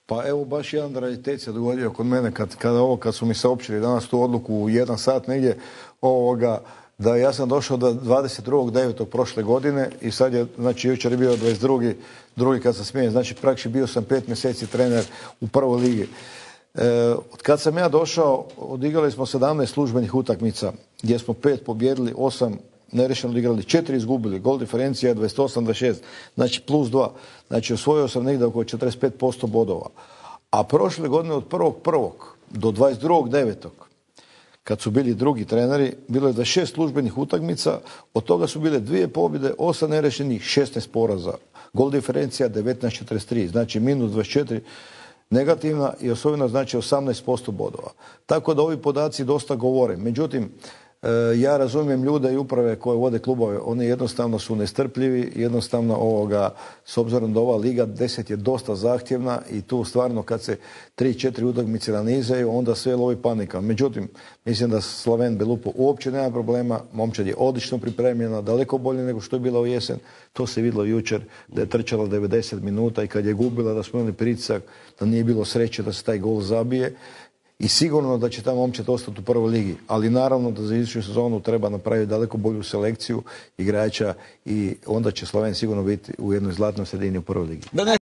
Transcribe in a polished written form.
Pa evo baš jedan raritet se dogodio kod mene kad su mi saopćili danas tu odluku u 1 sat negdje da ja sam došao do 22.9. prošle godine i sad je, znači jučer je bio 22. kad sam smijenjen, znači praktički bio sam 5 mjeseci trener u prvoj ligi. Od kad sam ja došao, odigrali smo 17 službenih utakmica gdje smo 5 pobjedili, 8 nerešeno odigrali, 4 izgubili, gol diferencija 28-26, znači plus 2. Znači osvojio sam negdje oko 45% bodova. A prošle godine od 1.1. do 22.9. kad su bili drugi treneri, bilo je 26 službenih utakmica, od toga su bile 2 pobjede, 8 nerešenih, 16 poraza. Gol diferencija 19-43, znači minus 24 negativna i osvojeno znači 18% bodova. Tako da ovi podaci dosta govore. Međutim, ja razumijem ljude i uprave koje vode klubove, oni jednostavno su nestrpljivi, jednostavno s obzirom da ova Liga 10 je dosta zahtjevna i tu stvarno kad se 3-4 utakmice nanizaju, onda sve lovi panika. Međutim, mislim da Slaven Belupo uopće nema problema, momčad je odlično pripremljena, daleko bolje nego što je bila u jesen. To se vidjelo jučer da je trčala 90 minuta i kad je gubila da smo imali pritisak, da nije bilo sreće da se taj gol zabije. I sigurno da će ta momčad ostati u prvoj ligi, ali naravno da za iduću sezonu treba napraviti daleko bolju selekciju igrača i onda će Slaven sigurno biti u jednoj zlatnoj sredini u prvoj ligi.